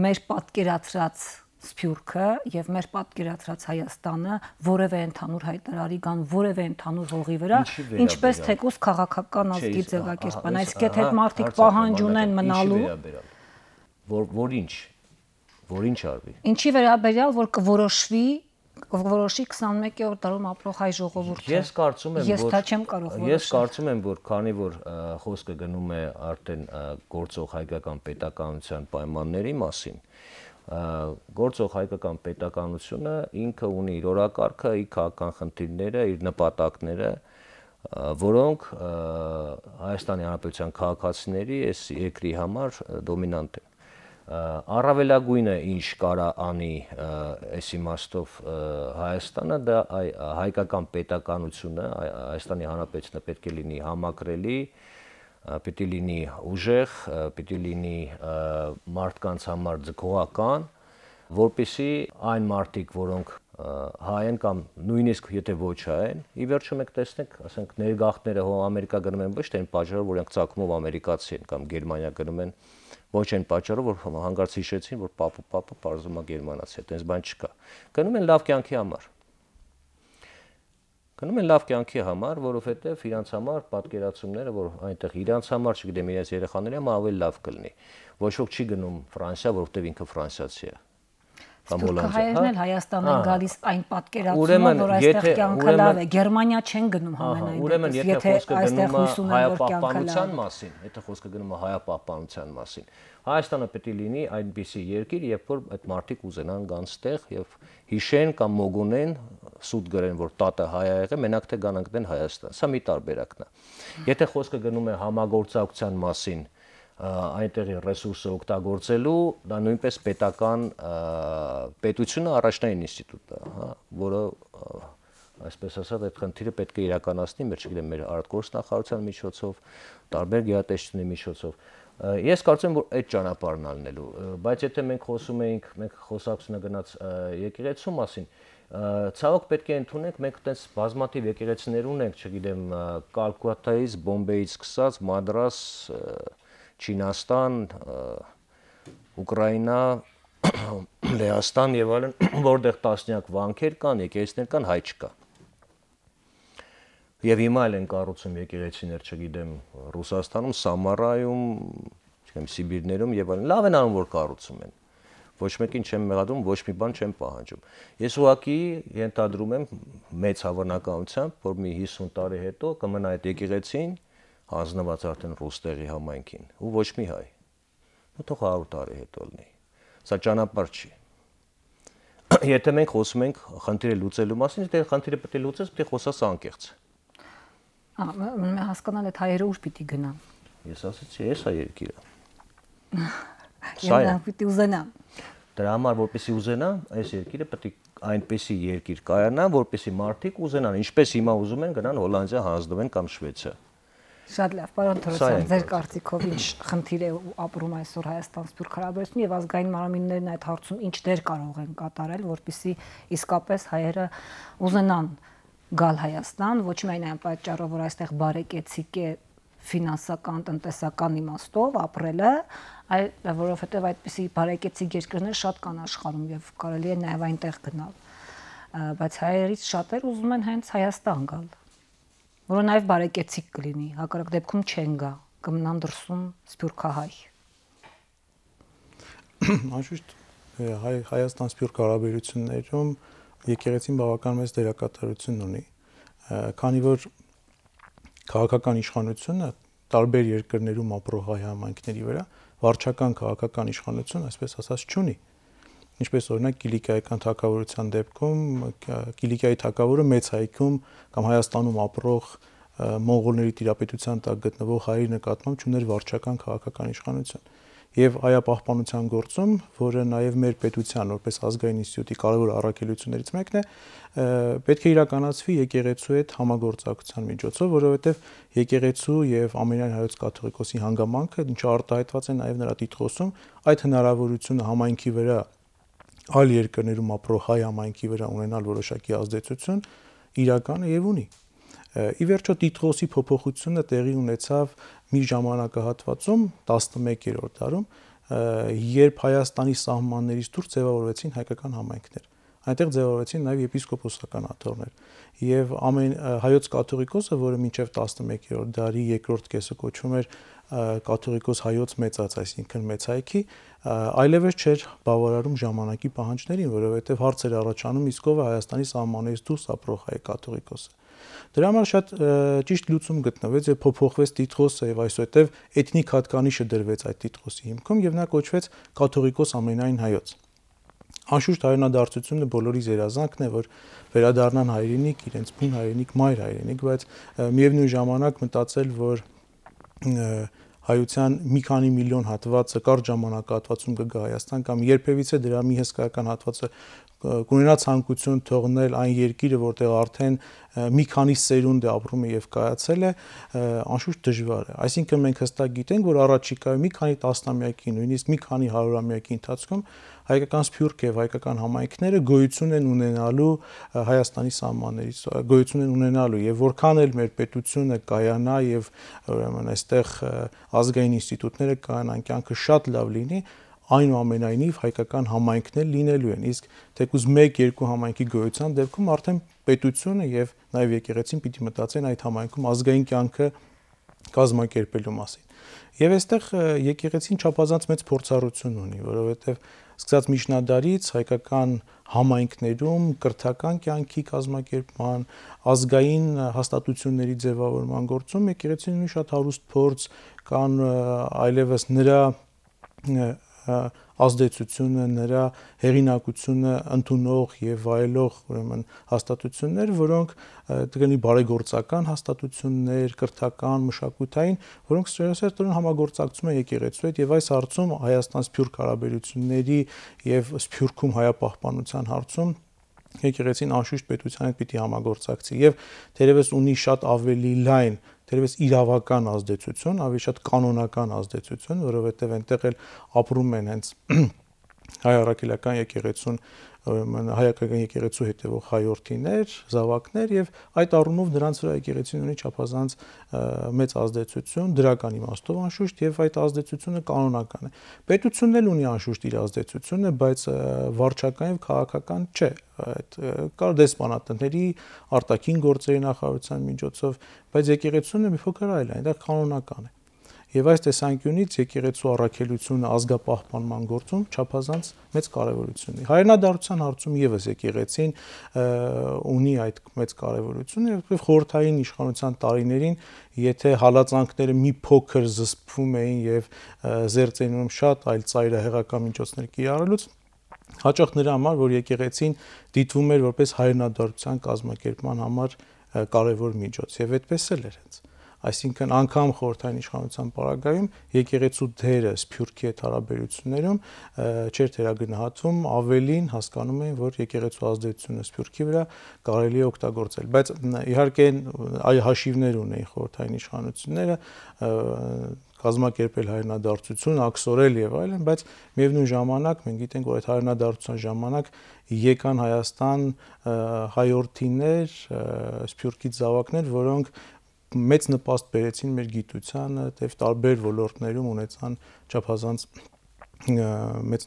մեր պատկերացրած սփյուռքը եւ մեր պատկերացրած Հայաստանը որևէ ընդհանուր հայտարարի կան որևէ ընդհանուր հողի վրա, ինչպես թեկուզ քաղաքական ազգի ձևակերպան, այսինքն եթե մարդիկ պահանջ ունեն մնալու, որ ինչ արվի։ Ինչի վերաբերյալ, որ կորոշվի 21-րդ դարում ապրող հայ ժողովուրդը։ Ես կարծում եմ, որ քանի որ խոսքը գնում է արդեն գործող հայկական պետականության պայմանների մասին, գործող հայկական պետականությունը ինքը ունի իր օրակարգը, իր քաղաքական խնդիրները, իր նպատակները, որոնք Հայաստանի Հանրապետության քաղաքացիների այս երկրի համար դոմինանտ են։ Առավելագույնը ինչ կարա անի այս իմաստով Հայաստանը, դա հայկական պետականությունը, Հայաստանի Հանրապետությունը պետք է լինի համակրելի, պիտի լինի ուժեղ, պիտի լինի մարդկանց համար ձգողական, որպեսզի այն մարդիկ, որոնք հայ են կամ նույնիսկ եթե ոչ հայ են, ի վերջո մենք տեսնենք, ասենք ներգաղթները հո Ամերիկա գնում են ոչ թե այն պատճառով, որ իրենք ծագումով ամերիկացի են կամ Գերմանիա գնում են, ոչ այն պատճառով, որ հանկարծ հիշեցին, որ պապը պարզում է գերմանացի է, այդպես բան չկա։ Գնում են լավ կյանքի համար։ Գնում են լավ կյանքի համար, որովհետև իրանց համար պատկերացումները, որ այնտեղ իրանց համար, չգիտեմ, իրենց երեխաների համար ավելի լավ կլինի։ Ոչ ոք չի գնում Ֆրանսիա, որովհետև ինքը ֆրանսիացի է։ Սփյուռքը հայերն էլ Հայաստան են գալիս այն պատկերացումով, որ այստեղ կյանքը լավ է, Գերմանիա չեն գնում համենայն դեպս, եթե խոսքը գնում է հայապահպանության մասին, եթե խոսքը գնում է հայապահպանության մասին, Հայաստանը պետք է լինի այնպիսի երկիր, երբ որ այդ մարդիկ ուզենան գան ստեղ եւ հիշեն կամ մոգունեն, սուտ գրեն, որ տատը հայ է եղել, մենակ թե գան ընկնեն Հայաստան։ Սա մի տարբերակն է։ Եթե խոսքը գնում է համագործակցության մասին, այնտեղի ռեսուրսը օգտագործելու, դա նույնպես պետական պետությունը առաջնային ինստիտուտ է, հա, որը այսպես ասած, այդ խնդիրը պետք է իրականացնի մեր, չգիտեմ, մեր արտգործնախարարության միջոցով, տարբեր գերատեսչությունների միջոցով։ Ես կարծում եմ, որ այդ ճանապարհն ալնելու, բայց եթե մենք խոսակցությունը գնաց եկեղեցու մասին, ցավոք պետք է ընդունենք, մենք այդպես բազմաթիվ եկեղեցիներ ունենք, չգիտեմ, Կալկուտայից, Բոմբեից սկսած, Մադրաս, Չինաստան, Ուկրաինա, Լեհաստան եւ այլն, որտեղ տասնյակ վանքեր կան, եկեղեցիներ կան, հայ չկա։ Եվ հիմա էլ են կառուցում եկեղեցիներ, չգիտեմ, Ռուսաստանում, Սամարայում, չգիտեմ, Սիբիրներում եւ այլն։ Լավ են անում, որ կառուցում են։ Ոչ մեկին չեմ մեղադրում, ոչ մի բան չեմ պահանջում։ Ես ուղղակի ենթադրում եմ մեծ հավանականությամբ, որ մի 50 տարի հետո կմնա այդ եկեղեցին հանձնված արդեն ռուստերի համայնքին ու ոչ մի հայ։ Ու թող 100 տարի հետո լինի։ Սա ճանապարհ չի։ Եթե մենք խոսում ենք խնդիրը լուծելու մասին, դե խնդիրը պետք է լուծես, պետք է խոսաս անկեղծ։ Մենք հասկանալ այդ հայերը ուր պիտի գնան։ Ես ասացի, էս է երկիրը։ Եվ պիտի ուզենան։ Դրա համար, որպեսզի ուզենա, այս երկիրը պետք է այնպեսի երկիր կայանա, որպեսզի մարդիկ ուզենան, ինչպես հիմա ուզում են գնան Հոլանդիա, հանձնվեն կամ Շվեյցարիա։ Շատ լավ, պարոն Թորոսյան, ձեր կարծիքով ինչ խնդիր է ապրում այսօր Հայաստան-Սփյուռք հարաբերությունում եւ ազգային մարմիններն այդ հարցում ինչ դեր կարող են կատարել, որպեսզի իսկապես հայերը ուզենան գալ Հայաստան, ոչ միայն այն պատճառով, որ այստեղ բարեկեցիկ է ֆինանսական, տնտեսական իմաստով ապրելը, այլ որովհետեւ այդպիսի բարեկեցիկ երկրներ շատ կան աշխարհում եւ կարելի է նաեւ այնտեղ գնալ։ Բայց հայերից շատեր ուզում են հենց Հայաստան գալ, որը նաեւ բարեկեցիկ կլինի, հակառակ դեպքում չեն գա, կմնան դրսում սփյուռքահայ։ Անշուշտ Հայաստան-Սփյուռք հարաբերություններում եկեղեցին բավական մեծ դերակատարություն ունի, քանի որ քաղաքական իշխանությունը տարբեր երկրներում ապրող հայ համայնքների վրա վարչական քաղաքական իշխանություն, այսպես ասած, չունի։ Ինչպես օրինակ Կիլիկիայական թագավորության դեպքում Կիլիկիայի թագավորը մեծ հայքում կամ Հայաստանում ապրող մոնղոլների տիրապետության տակ գտնվող հայերի նկատմամբ չուներ վարչական քաղաքական իշխանություն։ Եվ այապահպանության գործում, որը նաև մեր պետության որպես ազգային ինստիտուտի կարևոր առաքելություններից մեկն է, պետք է իրականացվի եկեղեցու հետ համագործակցության միջոցով, որովհետև եկեղեցու եւ ամենայն հայոց կաթողիկոսի հանգամանքը, ինչը արտահայտված է նաև նրա տիտղոսում, այդ հնարավորությունը համայնքի վրա այլ երկրներում ապրող հայ համայնքի վրա ունենալ որոշակի ազդեցություն իրական է եւ ունի։ Ի վերջո տիտղոսի փոփոխությունը տեղի ունեցավ մի ժամանակահատվածում 11-րդ դարում, երբ Հայաստանի սահմաններից դուրս ձևավորվեցին հայկական համայնքներ։ Այնտեղ ձևավորվեցին նաև եպիսկոպոսական աթոռներ։ Եվ հայոց կաթողիկոսը, որը մինչև 11-րդ դարի երկրորդ կեսը կոչվում էր կաթողիկոս հայոց մեծած, այսինքն մեծ հայքի, այլևս չէր բավարարում ժամանակի պահանջներին, որովհետև հարց էր առաջանում իսկ ով է Հայաստանի սահմաններից դուրս ապրող հայ կաթողիկոսը։ Դրա համար շատ ճիշտ լուծում գտնվեց եւ փոփոխվեց տիտղոսը եւ այսուհետեւ էթնիկ հատկանիշը դրվեց այդ տիտղոսի հիմքում եւ նա կոչվեց կաթողիկոս ամենայն հայոց։ Անշուշտ հայրենադարձությունը բոլորի զերազանքն է, որ վերադառնան հայրենիք, իրենց բուն հայրենիք, մայր հայրենիք, բայց միևնույն ժամանակ մտածել, որ հայության մի քանի միլիոն հատվածը կարճ ժամանակահատվածում կգա Հայաստան կամ երբևիցե դրա մի հսկայական հատվածը կունենա ցանկություն թողնել այն երկիրը, որտեղ արդեն մի քանի սերունդ է ապրում է եւ կայացել է, անշուշտ դժվար է։ Այսինքն մենք հստակ գիտենք, որ առաջիկայում մի քանի տասնամյակի, նույնիսկ մի քանի հարյուրամյակի ընթացքում հայկական սփյուռք եւ հայկական համայնքները գոյություն են ունենալու Հայաստանի սահմաններից, գոյություն են ունենալու եւ որքան էլ մեր պետությունը կայանա եւ ուրեմն այստեղ ազգային ինստիտուտները կայանան, կյանքը շատ լավ լինի, այնուամենայնիվ հայկական համայնքներ լինելու են, իսկ թեկուզ 1-2 համայնքի գոյության դեպքում արդեն պետությունը եւ նաեւ եկեղեցին պիտի մտածեն այդ համայնքում ազգային կյանքը կազմակերպելու մասին։ Եվ այստեղ եկեղեցին չափազանց մեծ փորձառություն ունի, որովհետեւ սկսած միջնադարից հայկական համայնքներում կրթական կյանքի կազմակերպման, ազգային հաստատությունների ձևավորման գործում եկեղեցին ունի շատ հարուստ փորձ, կան այլևս նրա ազդեցությունը, նրա հեղինակությունը ընդունող եւ վայելող ուրեմն հաստատություններ, որոնք դեպի բարեգործական հաստատություններ, կրթական, մշակութային, որոնք սերտորեն համագործակցում են եկեղեցու հետ եւ այս հարցում Հայաստան-Սփյուռք հարաբերությունների եւ Սփյուռքում հայապահպանության հարցում եկեղեցին անշուշտ պետության հետ պիտի համագործակցի եւ թերևս ունի շատ ավելի լայն, թերևս իրավական ազդեցություն, ավելի շատ կանոնական ազդեցություն, որովհետեւ այնտեղ էլ ապրում են հենց հայ առաքելական եկեղեցուն հայկական եկեղեցու հետևող հայորդիներ, զավակներ եւ այդ առումով նրանց վրա եկեղեցին ունի չափազանց մեծ ազդեցություն դրական իմաստով անշուշտ եւ այդ ազդեցությունը կանոնական է։ Պետությունն էլ ունի անշուշտ իր ազդեցությունը, բայց վարչական եւ քաղաքական չէ։ Այդ կար դեսպանատների արտաքին գործերի նախարարության միջոցով, բայց եկեղեցուն մի փոքր այլ է, այնտեղ կանոնական է։ Եվ այս տեսանկյունից եկեղեցու առաքելությունը ազգապահպանման գործում չափազանց մեծ կարևորություն ունի։ Հայրենադարձության հարցում եւս եկեղեցին ունի այդ մեծ կարևորությունը եւ խորհրդային իշխանության տարիներին, եթե հալածանքները մի փոքր զսպվում էին եւ զերծենում շատ այլ ծայրահեղական միջոցներ կիրառելուց, հաճախ նրա համար, որ եկեղեցին դիտվում էր որպես հայրենադարձության կազմակերպման համար կարևոր միջոց եւ այդպես էլ էր հենց։ Այսինքն անգամ խորհրդային իշխանության պարագայում եկեղեցու դերը սփյուռքի հետ հարաբերություններում չէր թերագնահատվում, ավելին հասկանում էին, որ եկեղեցու ազդեցությունը սփյուռքի վրա կարելի է օգտագործել, բայց իհարկե այ հաշիվներ ունեին խորհրդային իշխանությունները, կազմակերպել հայրենադարձություն, աքսորել եւ այլն, բայց միևնույն ժամանակ մենք գիտենք, որ այդ հայրենադարձության ժամանակ եկան Հայաստան հայորդիներ, սփյուռքի զավակներ, որոնք մեծ նպաստ բերեցին մեր գիտությանը եւ տարբեր ոլորտներում ունեցան չափազանց մեծ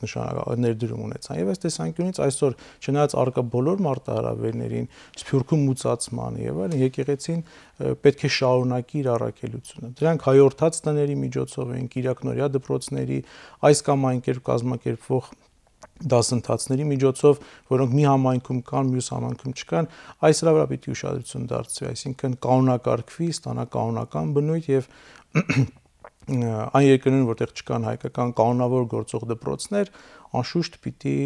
ներդրում ունեցան եւ այս տեսանկյունից այսօր չնայած արկա բոլոր մարտահրավերներին սփյուռքում մուծացման եւ այլն եկեղեցին պետք է շարունակի իր առաքելությունը դրանք հայորդաց տների միջոցով են կիրակնորյա դպրոցների այս կամ այն կերպ կազմակերպվող դասընթացների միջոցով, որոնք մի համայնքում կան, մյուս համայնքում չկան, այս վրա պիտի ուշադրություն դարձվի, այսինքն կանոնակարգվի, ստանա կանոնական բնույթ եւ այն երկրներում, որտեղ չկան հայկական կանոնավոր գործող դպրոցներ, անշուշտ պիտի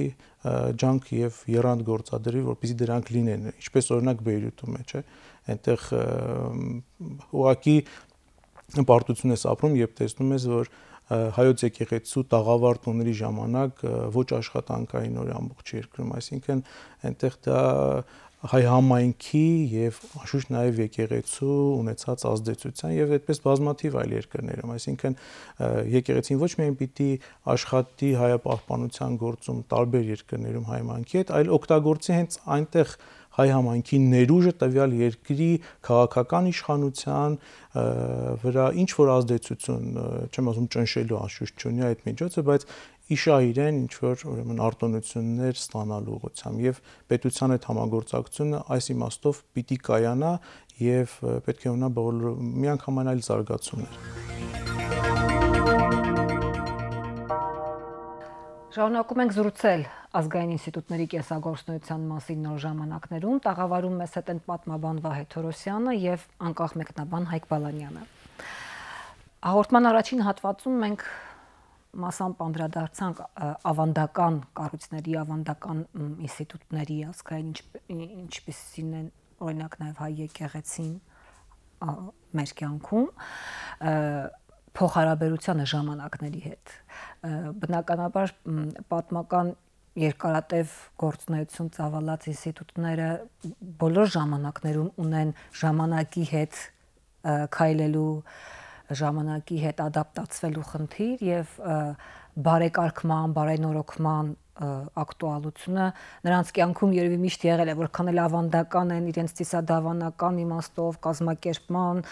ջանք եւ եռանդ գործադրի, որպեսզի դրանք լինեն, ինչպես օրինակ Բեյրութում է, չէ՞, այնտեղ ուղղակի պարտություն ես ապրում, երբ տեսնում ես, որ հայոց եկեղեցու տաղավար տոների ժամանակ ոչ աշխատանքային օր ամբողջ երկրում, այսինքն այնտեղ դա հայ համայնքի եւ անշուշտ նաեւ եկեղեցու ունեցած ազդեցության եւ այդպես բազմաթիվ այլ երկրներում, այսինքն եկեղեցին ոչ միայն պիտի աշխատի հայապահպանության գործում տարբեր երկրներում հայ համայնքի հետ, այլ օգտագործի հենց այնտեղ հայ համայնքի ներուժը տվյալ երկրի քաղաքական իշխանության վրա ինչ որ ազդեցություն, չեմ ասում ճնշելու անշուշտ չունի այդ միջոցը, բայց իշա իրեն ինչ որ ուրեմն արտոնություններ ստանալու ուղղությամբ եւ պետության հետ համագործակցությունը այս իմաստով պիտի կայանա եւ պետք է ունենա միանգամայն այլ զարգացումներ։ Շարունակում ենք զրուցել ազգային ինստիտուտների կենսագործունեության մասին նոր ժամանակներում, տաղավարում մեզ հետ են պատմաբան Վահե Թորոսյանը եւ անկախ մեկնաբան Հայկ Բալանյանը։ Հաղորդման առաջին հատվածում մենք մասամբ անդրադարձանք ավանդական կառույցների, ավանդական ինստիտուտների ազգային ինչպիսին են օրինակ նաեւ հայ եկեղեցին մեր կյանքում փոխհարաբերությանը ժամանակների հետ։ Բնականաբար պատմական երկարատև գործունեություն ծավալած ինստիտուտները բոլոր ժամանակներում ունեն ժամանակի հետ քայլելու, ժամանակի հետ ադապտացվելու խնդիր եւ բարեկարգման, բարենորոգման ակտուալությունը նրանց կյանքում երևի միշտ եղել է, որքան էլ ավանդական են իրենց ծիսադավանական իմաստով, կազմակերպման,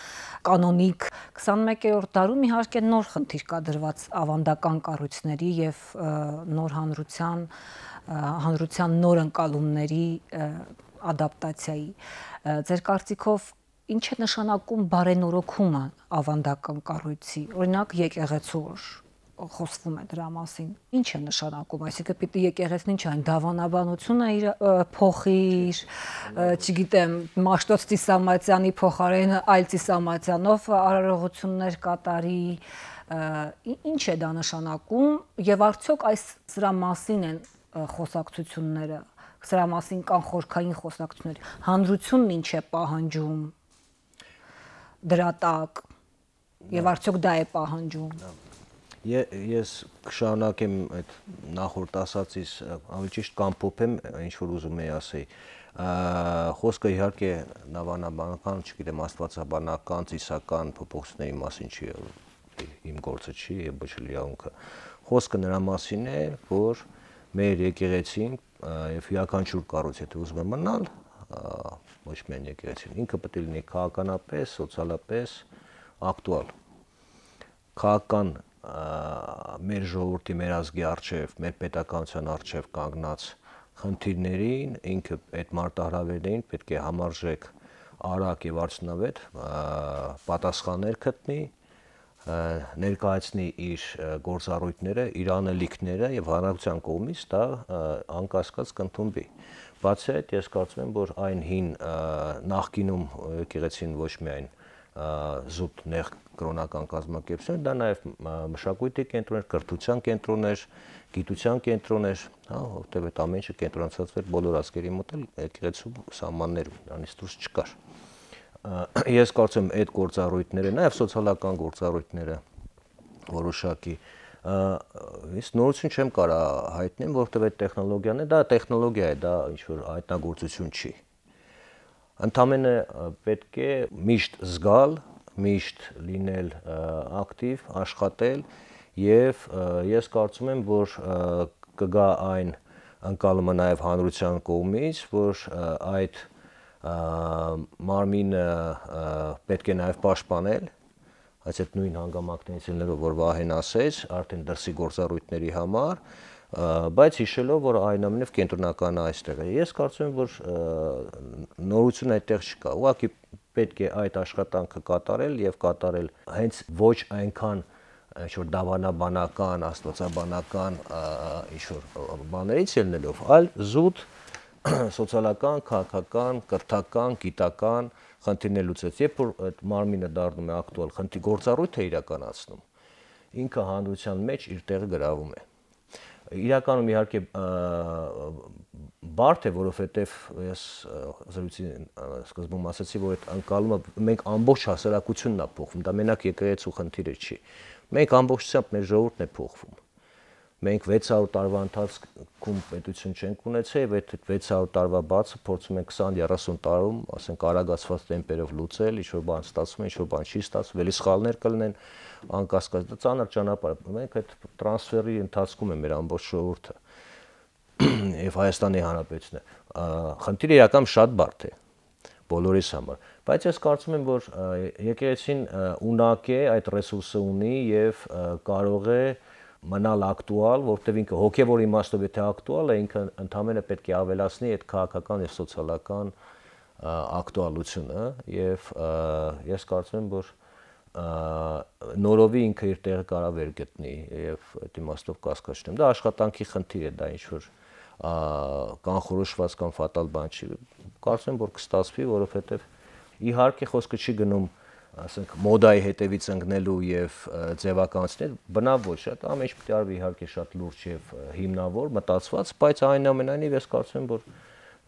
կանոնիկ 21-րդ դարում իհարկե նոր խնդիր կա դրված ավանդական կառույցների եւ նոր հանրության նոր ընկալումների ադապտացիայի։ Ձեր կարծիքով ինչ է նշանակում բարենորոգումը ավանդական կառույցի, օրինակ եկեղեցու խոսվում է դրա մասին։ Ինչ է նշանակում, այսինքն պիտի եկեղեցին ինչ այն դավանաբանությունը իր փոխի, չգիտեմ, Մաշտոց Ծիսամատյանի փոխարեն այլ Ծիսամատյանով արարողություններ կատարի, ինչ է դա նշանակում եւ արդյոք այս սրա մասին են խոսակցությունները, սրա մասին կան խորքային խոսակցություններ, հանրությունն ինչ է պահանջում դրա տակ եւ արդյոք դա է պահանջում։ Ես կշարունակեմ այդ նախորդ ասածից, ավելի ճիշտ կամփոփեմ ինչ որ ուզում եի ասեի։ Խոսքը իհարկե նավանաբանական, չգիտեմ, աստվածաբանական, ծիսական փոփոխությունների մասին չի, իմ գործը չի եւ ոչ էլ իրավունքը։ Խոսքը նրա մասին է, որ մեր եկեղեցին եւ յուրաքանչյուր կառույց, եթե ուզում է մնալ, ոչ միայն եկեղեցին, ինքը պետք է լինի քաղաքականապես, սոցիալապես ակտուալ։ Քաղաքական մեր ժողովրդի, մեր ազգի արչև, մեր պետականության արչև կանգնած խնդիրներին, ինքը այդ մարտահրավերներին պետք է համարժեք, արագ եւ արդյունավետ պատասխաններ գտնի, ներկայացնի իր գործառույթները, իր անելիքները եւ հանրության կողմից դա անկասկած կընդունվի։ Բացի այդ, ես կարծում եմ, որ այն հին նախկինում եկեղեցին ոչ միայն զուտ նեղ կրոնական կազմակերպություն, դա նաև մշակույթի կենտրոն էր, կրթության կենտրոն էր, գիտության կենտրոն էր, հա, որտեղ այդ ամեն ինչը կենտրոնացած էր բոլոր ազգերի մոտ էլ եկեղեցու սահմաններում, դրանից դուրս չկար։ Ես կարծում եմ այդ գործառույթները, նաև սոցիալական գործառույթները որոշակի ես նորություն չեմ կարա հայտնեմ, որովհետև այդ տեխնոլոգիան է, դա տեխնոլոգիա է, դա ինչ որ հայտնագործություն չի։ Ընդամենը պետք է միշտ զգալ, միշտ լինել ակտիվ, աշխատել եւ ես կարծում եմ, որ կգա այն ընկալումը նաեւ հանրության կողմից, որ այդ մարմինը պետք է նաեւ պաշտպանել, այս այդ նույն հանգամանքներից ելնելով, որ Վահեն ասեց, արդեն դրսի գործառույթների համար, բայց հիշելով, որ այնուամենայնիվ կենտրոնական այստեղ է։ Ես կարծում եմ, որ նորություն այդտեղ չկա։ Ուղղակի պետք է այդ աշխատանքը կատարել եւ կատարել հենց ոչ այնքան ինչ-որ դավանաբանական, աստվածաբանական ինչ-որ բաներից ելնելով, այլ զուտ սոցիալական, քաղաքական, կրթական, գիտական խնդիրներ լուծեց։ Երբ որ այդ մարմինը դառնում է ակտուալ խնդիր գործառույթ է իրականացնում, ինքը հանրության մեջ իր տեղը գրավում է։ Իրականում իհարկե բարդ է, որովհետև ես զրույցի սկզբում ասացի, որ այդ անկալումը մենք ամբողջ հասարակությունն է փոխվում, դա մենակ եկեղեցու խնդիրը չի։ Մենք ամբողջությամբ մեր ժողովուրդն է փոխվում։ Մենք 600 տարվա ընթացքում պետություն չենք ունեցել եւ այդ 600 տարվա բացը փորձում ենք 20-30 տարում, ասենք արագացված տեմպերով լուծել, ինչ որ բան ստացվում է, ինչ որ բան չի ստացվում, էլի սխալներ կլինեն, անկասկած դա ծանր ճանապարհ է։ Մենք այդ տրանսֆերի ընթացքում է մեր ամբողջ ժողովուրդը եւ Հայաստանի Հանրապետությունը։ Խնդիրը իրական շատ բարդ է բոլորիս համար, բայց ես կարծում եմ, որ եկեղեցին ունակ է, այդ ռեսուրսը ունի եւ կարող է մնալ ակտուալ, որովհետև ինքը հոգևոր իմաստով եթե ակտուալ է, ինքը ընդհանրապես պետք է ավելացնի այդ քաղաքական եւ սոցիալական ակտուալությունը եւ ես կարծում եմ, որ նորովի ինքը իր տեղը կարող վեր գտնի եւ այդ իմաստով կասկած չունեմ։ Դա աշխատանքի խնդիր է, դա ինչ որ կանխորոշված կամ ֆատալ բան չի։ Կարծում եմ, որ կստացվի, որովհետև իհարկե խոսքը չի գնում, ասենք, մոդայի հետևից ընկնելու եւ ձևականացնել, բնավ ոչ, դա ամեն ինչ պետք է արվի իհարկե շատ լուրջ եւ հիմնավոր, մտածված, բայց այնուամենայնիվ ես կարծում եմ, որ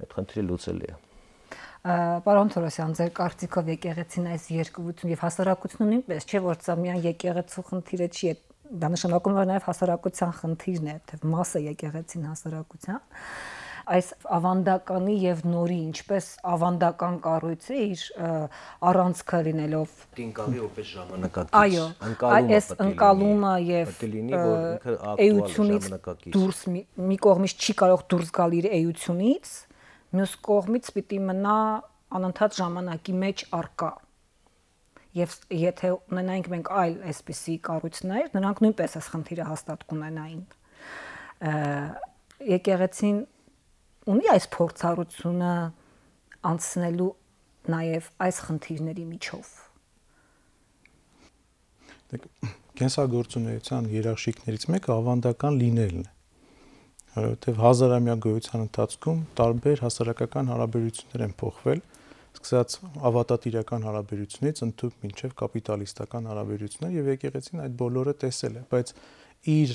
այդ խնդիրը լուծելի է։ Պարոն Թորոսյան, ձեր կարծիքով եկեղեցին այս երկրություն եւ հասարակությունը նույնպես չէ, որ սա միայն եկեղեցու խնդիրը չի, դա նշանակում է նաեւ հասարակության խնդիրն է, թե մասը եկեղեցին հասարակության։ Այս ավանդականի եւ նորի, ինչպես ավանդական կառույցը իր առանցքը լինելով Տինկալի որպես ժամանակակից։ Այո, այս ընկալումը եւ էությունից դուրս մի կողմից չի կարող դուրս գալ իր էությունից, մյուս կողմից պիտի մնա անընդհատ ժամանակի մեջ առկա։ Եվ եթե ունենայինք մենք այլ այսպիսի կառույցներ, նրանք նույնպես այս խնդիրը հաստատ կունենային։ Եկեղեցին ունի այս փորձառությունը անցնելու նաև այս խնդիրների միջով։ Կենսագործունեության երաշխիքներից մեկը ավանդական լինելն է, որովհետև հազարամյա գոյության ընթացքում տարբեր հասարակական հարաբերություններ են փոխվել, սկսած ավատատիրական հարաբերությունից ընդհանուր մինչև կապիտալիստական հարաբերություններ եւ եկեղեցին այդ բոլորը տեսել է, բայց իր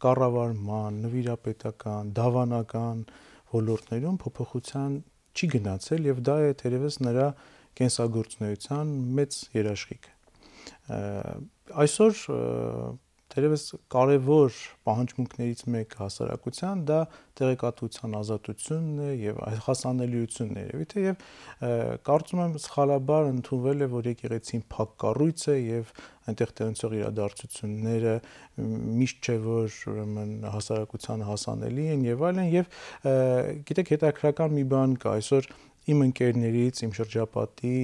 կառավարման, նվիրապետական, դավանական ոլորտներում փոփոխության չի գնացել եւ դա է թերևս նրա կենսագործունեության մեծ երաշխիքը։ Այսօր Տերևս կարևոր պահանջմունքներից մեկը հասարակության դա տեղեկատվության ազատությունն է եւ հասանելիությունն է երևի թե եւ կարծում եմ սխալաբար ընդունվել է, որ եկեղեցին փակ կառույց է եւ այնտեղ տեղնցող իրադարձությունները միշտ չէ որ ուրեմն հասարակությանը հասանելի են եւ այլն եւ գիտեք հետաքրական մի բան կա այսօր իմ ընկերներից, իմ շրջապատի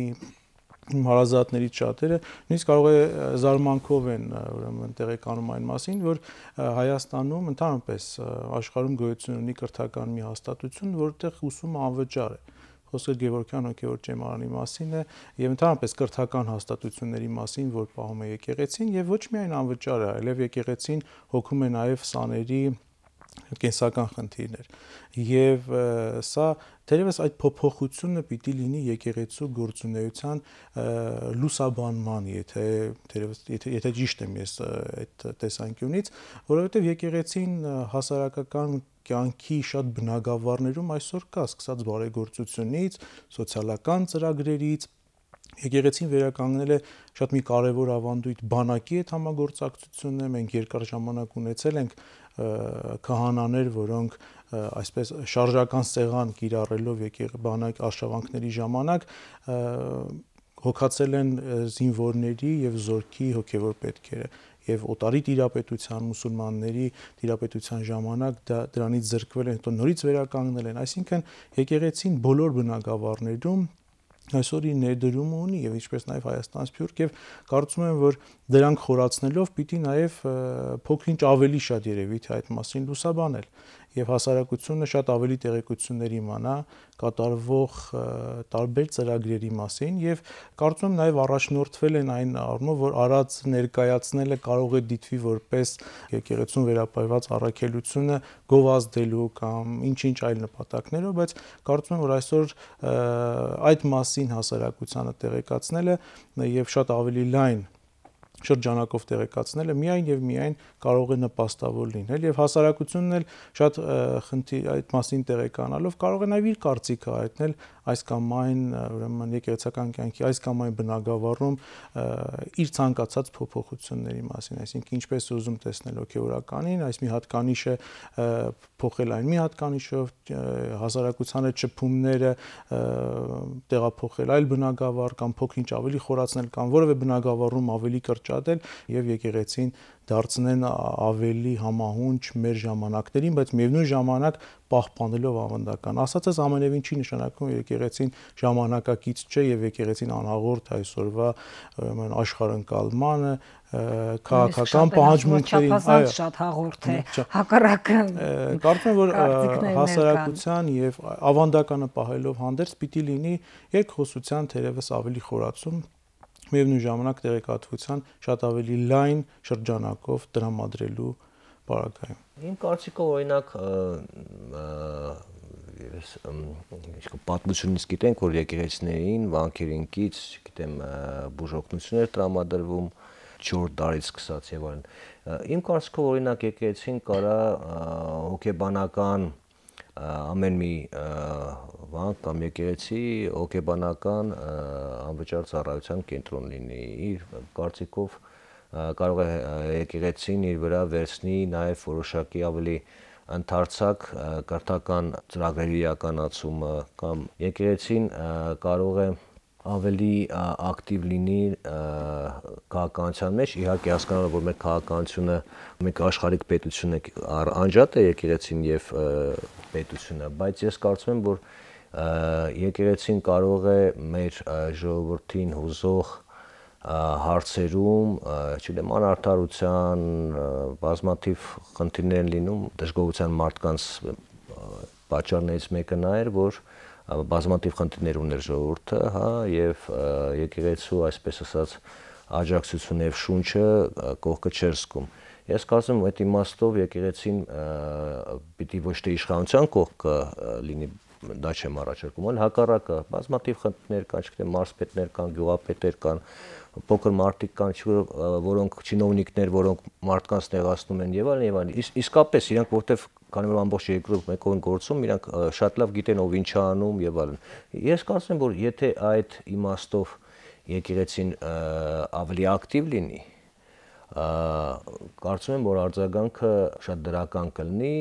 հարազատներից շատերը նույնիսկ կարող է զարմանքով են ուրեմն տեղեկանում այն մասին, որ Հայաստանում ընդհանրապես աշխարհում գոյություն ունի կրթական մի հաստատություն, որտեղ ուսումը անվճար է։ Խոսքը Գևորգյան հոգևոր ճեմարանի մասին է եւ ընդհանրապես կրթական հաստատությունների մասին, որ պահում է եկեղեցին եւ ոչ միայն անվճար է, այլև եկեղեցին հոգում է նաեւ սաների կենսական խնդիրներ եւ սա թերևս այդ փոփոխությունը պիտի լինի եկեղեցու գործունեության լուսաբանման, եթե ճիշտ եմ ես այդ տեսանկյունից, որովհետեւ եկեղեցին հասարակական կյանքի շատ բնագավառներում այսօր կա, սկսած բարեգործությունից, սոցիալական ծրագրերից Եկեղեցին վերականգնել է շատ մի կարևոր ավանդույթ բանակի հետ համագործակցությունն է, մենք երկար ժամանակ ունեցել ենք քահանաներ, որոնք այսպես շարժական սեղան կիրառելով բանակ արշավանքների ժամանակ հոգացել են զինվորների եւ զորքի հոգեվոր պետքերը եւ օտարի տիրապետության մուսուլմանների տիրապետության ժամանակ դրանից զրկվել են, հետո նորից վերականգնել են, այսինքն եկեղեցին բոլոր բնագավառներում այսօր իր ներդրումը ունի եւ ինչպես նաեւ Հայաստան Սփյուռք եւ կարծում եմ որ դրանք խորացնելով պիտի նաեւ փոքրինչ ավելի շատ երևի թե այդ մասին լուսաբանել եւ հասարակությունը շատ ավելի տեղեկություններ իմանա կատարվող տարբեր ծրագրերի մասին եւ կարծում եմ նաեւ առաջնորդվել են այն առումով որ արած ներկայացնելը կարող է դիտվի որպես եկեղեցուն վերապայված առաքելությունը գովազդելու կամ ինչ-ինչ այլ նպատակներով, բայց կարծում եմ որ այսօր այդ մասին հասարակությանը տեղեկացնելը եւ շատ ավելի լայն շրջանակով տեղեկացնելը միայն եւ միայն կարող է նպաստավոր լինել եւ հասարակությունն էլ շատ այդ մասին տեղեկանալով կարող է նաեւ իր կարծիքը հայտնել այս կամ այն ուրեմն եկեղեցական կյանքի այս կամ այն բնագավառում իր ցանկացած փոփոխությունների մասին, այսինքն ինչպես ուզում տեսնել հոգեորականին, այս մի հատկանիշը փոխել այն մի հատկանիշով, հասարակությանը ճփումները տեղափոխել այլ բնագավառ կամ փոքրինչ ավելի խորացնել կամ որևէ բնագավառում ավելի կրճատել եւ եկեղեցին դարձնեն ավելի համահունչ մեր ժամանակներին, բայց միևնույն ժամանակ պահպանելով ավանդական։ Ասածս ամենևին չի նշանակում, որ եկեղեցին ժամանակակից չէ եւ եկեղեցին անհաղորդ այսօրվա աշխարհընկալմանը, քաղաքական պահանջմունքներին, այո, շատ հաղորդ է, հակառակը։ Կարծում եմ, որ հասարակության եւ ավանդականը պահելով հանդերձ պիտի լինի երկխոսության թերևս ավելի խորացում միևնույն ժամանակ տեղեկատվության շատ ավելի լայն շրջանակով տրամադրելու պարագայում։ Իմ կարծիքով օրինակ պատմությունից գիտենք, որ եկեղեցիներին վանքերին կից, գիտեմ, բուժօգնություններ տրամադրվում 4 դարից սկսած եւ այլն։ Իմ կարծիքով օրինակ եկեղեցին կարա հոգեբանական ամեն մի վանք կամ եկեղեցի հոգեբանական անվճար ծառայության կենտրոն լինի։ Իր կարծիքով կարող է եկեղեցին իր վրա վերցնի նաև որոշակի ավելի ընդարձակ կրթական ծրագրերի իրականացումը կամ եկեղեցին կարող է ավելի ակտիվ լինի քաղաքականության մեջ, իհարկե հասկանալով, որ մեր քաղաքականությունը մեկ աշխարհիկ պետություն է, անջատ է եկեղեցին եւ պետությունը, բայց ես կարծում եմ, որ եկեղեցին կարող է մեր ժողովրդին հուզող հարցերում, չգիտեմ, անարդարության, բազմաթիվ խնդիրներ են լինում, դժգոհության մարդկանց պատճառներից մեկը նա էր, որ բազմաթիվ խնդիրներ ուներ ժողովուրդը, հա, եւ եկեղեցու այսպես ասած աջակցությունը եւ շունչը կողքը չէր զգում։ Ես կարծում եմ այդ իմաստով եկեղեցին պիտի ոչ թե իշխանության կողքը լինի, դա չեմ առաջարկում, այլ հակառակը, բազմաթիվ խնդիրներ կան, չգիտեմ, մարզպետներ կան, գյուղապետեր կան, փոքր մարդիկ կան, որոնք չինովնիկներ, որոնք մարդկանց տեղացնում են եւ այլն, իսկապես իրանք որտեվ քանի որ ամբողջ երկրում մեկով են գործում, իրանք շատ լավ գիտեն ով ինչ է անում եւ այլն։ Ես կարծում եմ, որ եթե այդ իմաստով եկեղեցին ավելի ակտիվ լինի, կարծում եմ, որ արձագանքը շատ դրական կլինի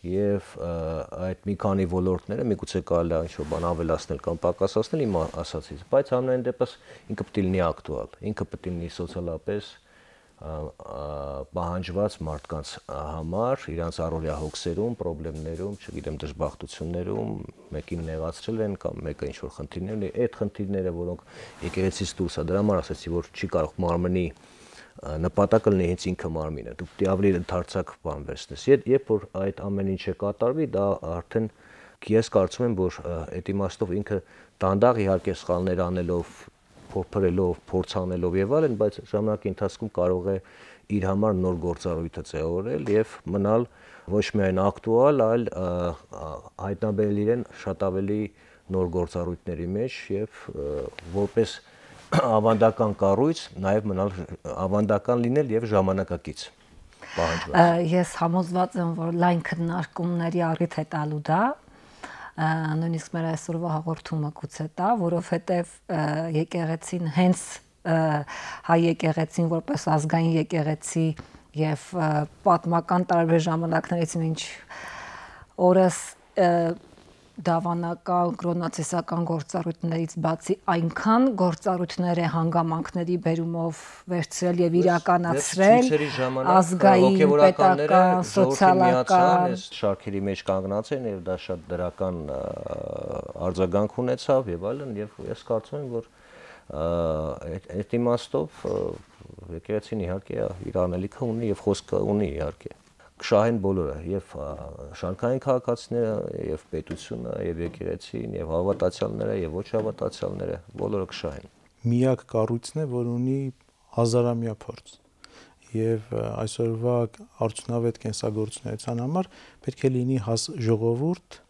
եւ այդ մի քանի ոլորտները միգուցե կարելի է ինչ-որ բան ավելացնել կամ պակասացնել իմ ասածից, բայց ամենայն դեպս ինքը պետք է լինի ակտուալ, ինքը պետք է լինի սոցիալապես պահանջված մարդկանց համար, իրանց առօրյա հոգսերում, խնդիրներում, չգիտեմ, դժբախտություններում, մեկին նեղացրել են կամ մեկը ինչ-որ խնդիրներ ունի, այդ խնդիրները, որոնք եկեղեցից դուրս է, դրա համար ասացի, որ չի կարող մարմնի նպատակը լինի հենց ինքը մարմինը, դու պետք է ավելի ընդարձակ բան վերցնես, երբ որ այդ ամեն ինչը կատարվի, դա արդեն ես կարծում եմ, որ այդ իմաստով ինքը դանդաղ իհարկե սխալներ անելով, փորփրելով, փորձանելով եւ այլն, բայց ժամանակի ընթացքում կարող է իր համար նոր գործառույթը ձևավորել եւ մնալ ոչ միայն ակտուալ, այլ հայտնաբերել իրեն շատ ավելի նոր գործառույթների մեջ եւ որպես ավանդական կառույց նաև մնալ ավանդական լինել եւ ժամանակակից պահանջված։ Ես համոզված եմ, որ լայն քննարկումների առիթ է տալու դա, նույնիսկ մեր այսօրվա հաղորդումը գուցե տա, որովհետեւ եկեղեցին հենց հայ եկեղեցին որպես ազգային եկեղեցի եւ պատմական տարբեր ժամանակներից մինչ օրս դավանական կրոնացիստական գործառույթներից բացի այնքան գործառույթներ է հանգամանքների բերումով վերցրել եւ իրականացրել ազգային, պետական, սոցիալական շարքերի մեջ կանգնած են եւ դա շատ դրական արձագանք ունեցավ եւ այլն եւ ես կարծում եմ, որ այդ իմաստով եկեղեցին իհարկե իր անելիքը ունի եւ խոսքը ունի իհարկե կշահեն բոլորը եւ շարքային քաղաքացիները եւ պետությունը եւ եկեղեցին եւ հավատացյալները եւ ոչ հավատացյալները բոլորը կշահեն։ Միակ կառույցն է, որ ունի հազարամյա փորձ եւ այսօրվա արդյունավետ կենսագործունեության համար պետք է լինի ժողովուրդ,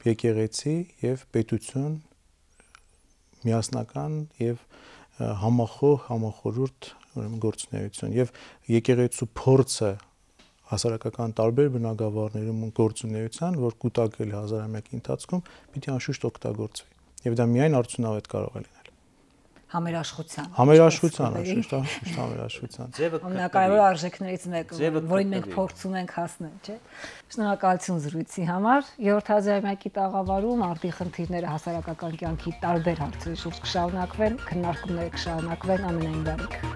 եկեղեցի եւ պետություն միասնական եւ համախորհուրդ գործունեություն եւ եկեղեցու փորձը հասարակական տարբեր բնագավառներում գործունեության, որ կուտակել է հազարամյակի ընթացքում, պիտի անշուշտ օգտագործվի եւ դա միայն արդյունավետ կարող է լինել։ Համերաշխության, անշուշտ համերաշխության։ Ամենակարևոր արժեքներից մեկը, որին մենք փորձում ենք հասնել, չէ՞։ Շնորհակալություն զրույցի համար։ Երրորդ հազարամյակի տաղավարում արդի խնդիրները հասարակական կյանքի տարբեր հարցերի շուրջ կշարունակվեն, քննարկումները կշարունակվեն, ամենայն բարիք։